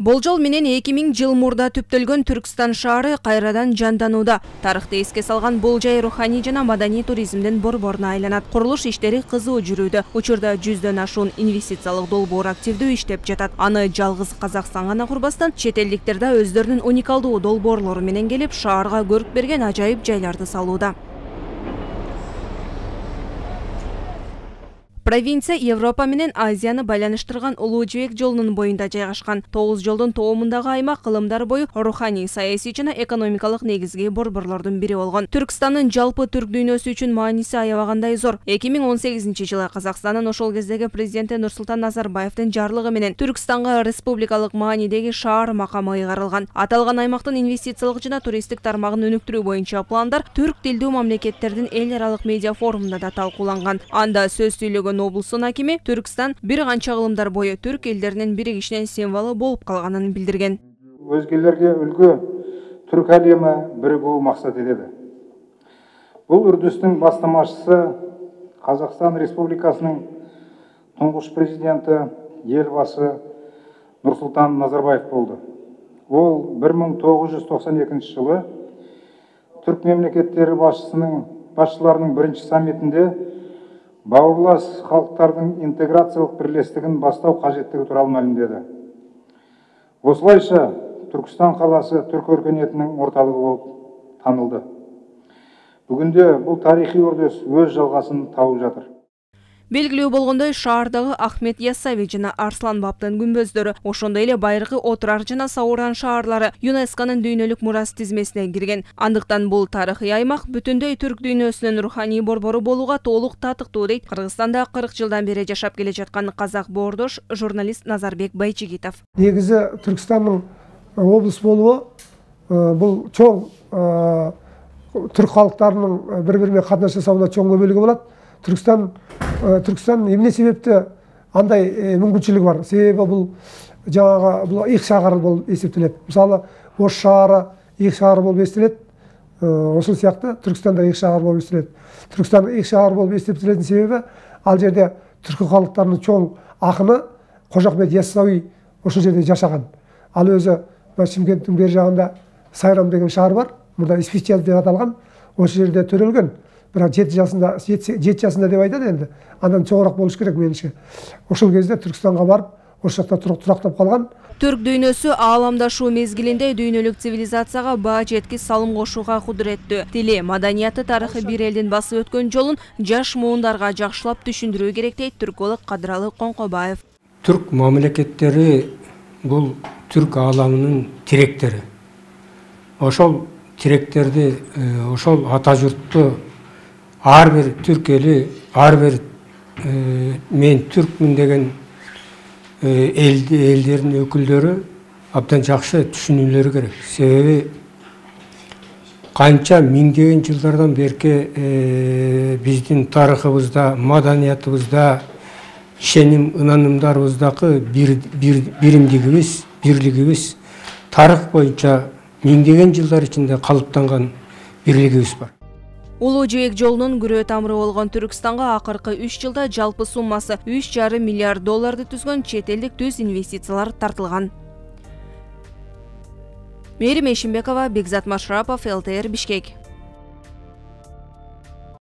Болжол менен 2000 жыл мурда түптөлгөн Түркстан шаары кайрадан жанданууда. Тарыхты эске салган бул жай руханий жана маданий туризмдин борборуна айланат. Курулуш иштери кызуу жүрүүдө. Учурда 100дөн ашуун инвестициялык долбоор активдүү иштеп жатат. Аны жалгыз Казакстан гана курбастан, чет элдиктер да өздөрүнүн уникалдуу долбоорлору менен келип, шаарга көрүк берген ажайып жайларды салууда. Провинция Европа менен Азияны байланыштырган Улуу жибек жолунун боюнда жайгашкан. 9 жолдун тоомундагы аймак кылымдар бою руханий, саясий жана экономикалык негизги борборлордун бири болгон. Түркстандын жалпы түрк дүйнөсү үчүн мааниси аябагандай зор. 2018-жылы Казакстандын ошол кездеги президенти Нурсултан Назарбаевдин жарлыгы менен Түркстанга республикалык маанидеги шаар макамы ыйгарылган. Аталган аймактын инвестициялык жана туристтик тармагын өнүктүрүү боюнча пландар түрк тилдүү мамлекеттердин эл аралык медиа форумунда да талкууланган. Анда сөз сүйлөгөн облустун акими Түркстан бир канча кылымдар бою түрк элдеринин биригишинин символу болуп калганын билдирген. Өзгелерге үлгү түрк әлемі бірігүү максат етеді. Бұл үрдүстүн бастамашысы Қазақстан Республикасынын туңгуш президенти елбасы Нурсултан Назарбаев болду. Ол 1992 жылы түрк мемлекеттери башчыларынын биринчи саммитинде бауырлас халықтардың интеграциялық бірлестігін бастау қажеттігі туралы мәлімдеді. Осылайша Түркістан қаласы түрк өркениетінің орталығы болып танылды. Бүгінде бұл тарихи үрдіс өз жалғасын тауып жатыр. Белгилүү болгондой, шаардагы Ахмет Яссауи жана Арслан Бабтын күмбөздөрү, ошондой эле байыркы Отырар жана Сауран шаарлары ЮНЕСКОнун дүйнөлүк мурас тизмесине кирген. Андыктан бул тарыхый аймак бүтүндөй түрк дүйнөсүнүн руханий борбору болууга толук татыктуу дейт Кыргызстанда 40 жылдан бери жашап келе жаткан казак боордош журналист Назарбек Байчигитов. Негизи Түркстандын облус болуу бул чоң түрк калктарынын бири-бирине катнаш жасауына чоң көбөлүгү болот. Түркстан эмне себепти андай мүмкүнчүлүгү бар? Себеби бул жаңағы бул их шаар болуп эсептелет. Мисалы, Ош шаары их шаар болуп эсептелет. Ошол сыяктуу Түркстанда их шаар болуп эсептелет. Түркстан их шаар болуп эсептелетин себеби ал жерде түрк калктарынын чоң акыны Кожо Ахмет Яссауи ошол жерде жашаган. Ал өзү Шымкенттин бери жагында Сайрам деген шаар бар. Мурда Испичья деп аталган. Ошол жерде төрөлгөн. Бирок 7 жашында деп айтат энди. Андан чоңураак болуш керек менимче. Ошол кезде Түркстанга барып, ошол жакта турактап калган. Түрк дүйнөсү ааламдашуу мезгилинде дүйнөлүк цивилизацияга баа жеткис салым кошууга кудуреттүү. Тили, маданияты, тарыхы бир элдин басып өткөн жолун жаш муундарга жакшылап түшүндүрүү керек дейт түрколог Кадыралы Коңкобаев. Түрк мамлекеттери бул түрк ааламынын тиректери. Ошол тиректерди, ошол ата журтту ар бир түрк эли, ар бир мен түркмүн деген элдердин өкүлдөрү абдан жакшы түшүнүүлөрү керек. Себеби канча миңдеген жылдардан берки биздин тарыхыбызда, маданиятыбызда, ишеним ынанымдарыбыздагы биримдигибиз, бирлигибиз тарых боюнча миңдеген жылдар ичинде калыптанган бирлигибиз бар. Улуу жибек жолунун күрөө тамыры болгон Түркстанга акыркы 3 жылда жалпы суммасы $3,5 миллиард түзгөн чет элдик түз инвестициялар тартылган. Мээрим Эшимбекова, Бекзат Машрапов, ЛТР Бишкек.